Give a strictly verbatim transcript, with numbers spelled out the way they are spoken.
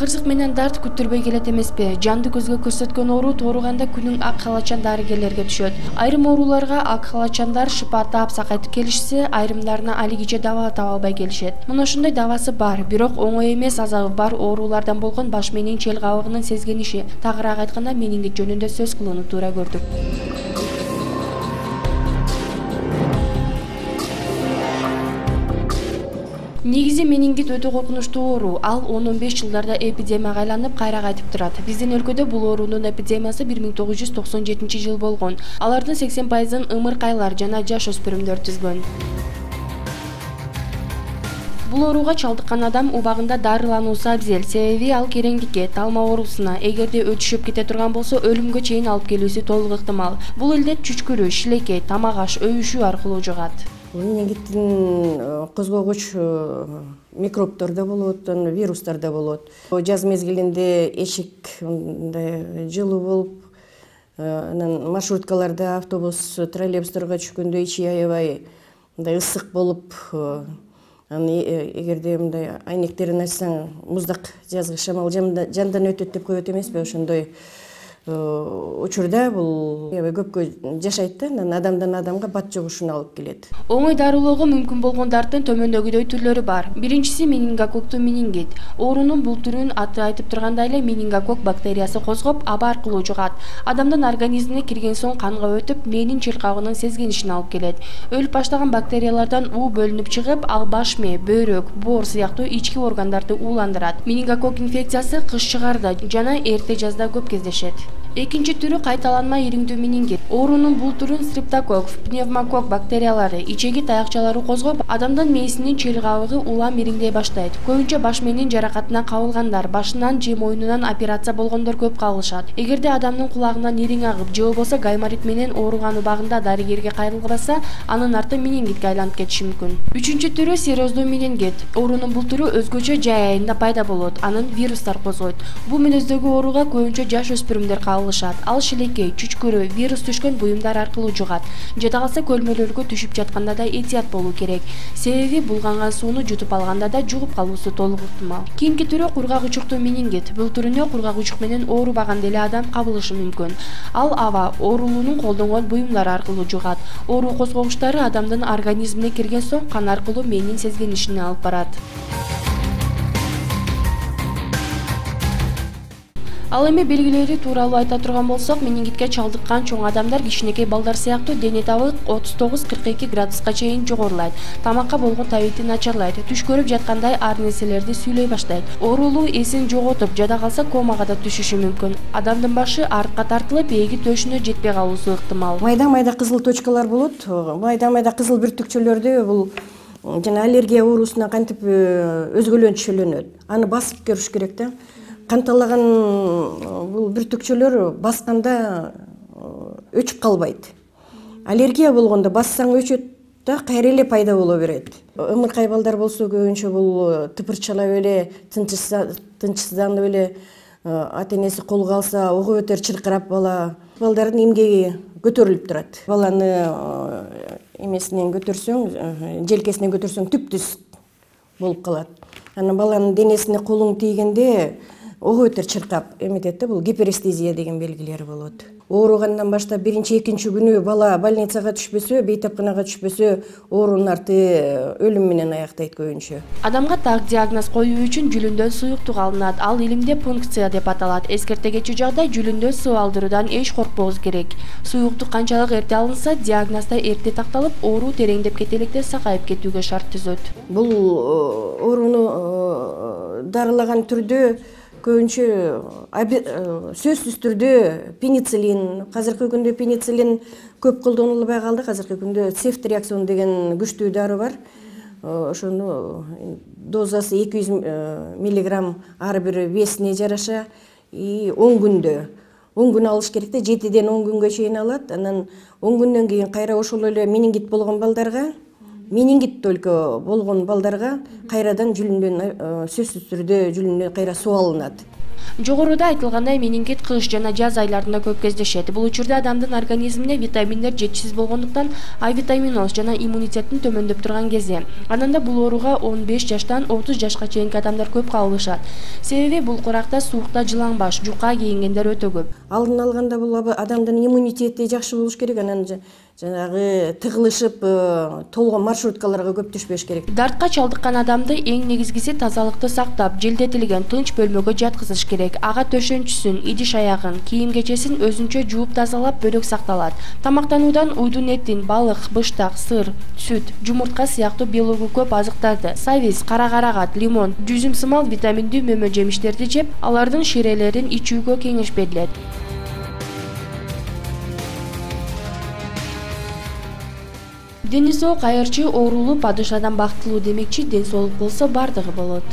Ырсык менен дарт күттүрбөй келет эмеспи? Жанды көзгө көрсөткөн оору тууруганда күнүң ак халачан дарыгерлерге түшөт. Айрым ооруларга ак халачандар шыпа таап сакайтып келишсе, айрымдарына алигиче дава таба албай келишет. Мына ошондой давасы бар, бирок оңой эмес азабы бар оорулардан болгон баш мээнин чел кабыгынын сезгениши. Тагыраак айтканда, менингит жөнүндө сөз кылууну туура көрдүк. Негизи менингит өтө коркунучтуу оору. Ал он он беш жылдарда эпидемияга айланып, кайра кайтып турат. Биздин өлкөдө бул оорунун эпидемиясы бир миң тогуз жүз токсон жетинчи жыл болгон. Алардын сексен пайызын ымыркайлар жана жаш өспүрүмдөр түзгөн. Бул ооруга чалдыккан адам убагында дарылануусу абзел, себеби ал кереңдикке, талма оорусуна, эгерде өтүшүп кете турган болсо, өлүмгө чейин алып келүүсү толук ыктымал. Бул илдет чүчкүрүү, шилекей, тамак аш, өбүшүү аркылуу жугат. Менингиттин козгогуч микробдор да болот, вирустар да болот. Жаз мезгилинде эшик мындай жылуу болуп, анан маршруткаларда, автобус, троллейбустарга түшкөндө ичи аябай мындай ысык болуп, эгерде мындай айнектерин ачсаң, муздак жазгы шамал жандан өтөт деп коет эмеспи? Ошондой учурда бул аябай көпкө жашайт да, анан адамдан адамга бат жугушуна алып келет. Оңой дарылоого мүмкүн болгон дарттын төмөндөгүдөй түрлөрү бар. Биринчиси менингококктуу менингит. Оорунун бул түрүн аты айтып тургандай эле менингококк бактериясы козгоп, аба аркылуу жугат. Адамдын организмине кирген соң канга өтүп, мээнин чел кабыгынын сезгенишин алып келет. Өлүп баштаган бактериялардан уу бөлүнүп чыгып, ал баш мээ, бөйрөк, боор сыяктуу ички органдарды ууландырат. Менингококк инфекциясы кыш чыгарда жана эрте жазда көп кездешет. Экинчи түрү кайталанма ириңдүү менингит. Оорунун бул түрүн стрептококк, пневмококк бактериялары, ичеги таякчалары козгоп, адамдын мээсинин чел кабыгы улам ириңдей баштайт. Көбүнчө баш мээнин жаракатынан кабылгандар, башынан же мойнунан операция болгондор көп кабылышат. Эгерде адамдын кулагынан ириң агып, же болбосо гайморит менен ооруган убагында дарыгерге кайрылбаса, анын арты менингитке айланып кетиши мүмкүн. Үчүнчү түрү сероздуу менингит. Оорунун бул түрү өзгөчө жай айында пайда болот. Анын вирустар козгойт. Бул мүнөздөгү ооруга көбүнчө жаш өспүрүмдөр кабылышат. Ал шилекей, чүчкүрүү, вирус түшкөн буюмдар аркылуу жугат. Жада калса көлмөлөргө түшүп жатканда да этият болуу керек. Себеби булганган сууну жутуп алганда да жугуп калуусу толук ыктымал. Кийинки түрү кургак учуктуу менингит. Бул түрүнө кургак учук менен оорубаган деле адам кабылышы мүмкүн. Ал аба, оорулуунун колдонгон буюмдары аркылуу жугат. Оору козгогучтары адамдын организмине кирген соң кан аркылуу мээнин сезгенишине алып барат. Ал эми белгилери тууралуу айта турган болсок, менингитке чалдыккан чоң адамдар кичинекей балдар сыяктуу дене табы отуз тогуз кырк эки градуска чейин жогорулайт. Тамакка болгон табити начарлайт. Түш көрүп жаткандай ар нерселерди сүйлөй баштайт. Оорулуу эсин жоготуп, жада калса комага да түшүшү мүмкүн. Адамдын башы артка тартылып, ээги төшүнө жетпей калуусу ыктымал. Майда-майда кызыл точкалар болот. Майда-майда кызыл бүртүкчөлөрдү бул жана аллергия оорусуна кантип өзгөлөнчүлөнөт. Аны басып көрүш керек да. Канталаган бул бүртүкчөлөр басканда өчүп калбайт. Аллергия болгондо бассаң өчөт да, кайра эле пайда боло берет. Ымыркай балдар болсо көбүнчө бул тыпырчалап эле, тынчсызданып эле ата энеси колго алса, ого бетер чыркырап бала. Балдардын эмгеги көтөрүлүп турат. Баланы эмесинен көтөрсөң, желкесинен көтөрсөң түп-түз болуп калат. Анан баланын денесине колуң тийгенде ого бетер чыркап эметет да, бул гиперестезия деген белгилери болот. Ооругандан баштап биринчи, экинчи күнү бала больницага түшпөсө, бейтапканага түшпөсө, оорунун арты өлүм менен аяктайт көбүнчө. Адамга так диагноз коюу үчүн жүлүндөн суюктук алынат. Ал илимде пункция деп аталат. Эскертегечи жагдай жүлүндөн суу алдыруудан эч коркпоңуз керек. Суюктук канчалык эрте алынса, диагноз да эрте такталып, оору тереңдеп кете электе сакайып кетүүгө шарт түзөт. Бул ооруну дарылаган түрдө көбүнчө сөзсүз түрдө пенициллин, азыркы күндө пенициллин көп колдонулбай калды. Азыркы күндө цефтриаксон деген күчтүү дары бар. Ошону дозасы эки жүз миллиграмм ар бир весине жараша он күндө. он күн алыш керек да, жетиден он күнгө чейин алат. Анан он күндөн кийин кайра ошол эле менингит болгон балдарга, менингит только болгон балдарга кайрадан жүлүндөн сөзсүз түрдө жүлүндөн кайра суу алынат. Жогоруда айтылгандай, менингит кыш жана жаз айларында көп кездешет. Бул учурда адамдын организмине витаминдер жетишсиз болгондуктан А витаминоз жана иммунитеттин төмөндөп турган кези. Ананда бул ооруга он беш жаштан отуз жашка чейинки адамдар көп кабылышат. Себеби бул куракта суукта жылаңбаш, жука кийингендер өтө көп. Алдын алганда бул адамдын иммунитети жакшы болуш керек, анан жанагы тыгылышып толгон маршруткаларга көп түшпөш керек. Дартка чалдыккан адамды эң негизгиси тазалыкты сактап, желдетилген тынч бөлмөгө жаткызыш керек. Ага төшөнчүсүн, идиш аягын, кийим-кечесин өзүнчө жууп тазалап бөлөк сакталат. Тамактануудан уйдун этин, балык, быштак, сыр, сүт, жумуртка сыяктуу белогу көп азыктарды, сабиз, кара карагат, лимон, жүзүм сымал витаминдүү мөмө жемиштерди жеп, алардын ширелерин ичүүгө кеңеш берилет. Дени соо кайырчы оорулуу падышадан бактылуу демекчи, ден соолук болсо бардыгы болот.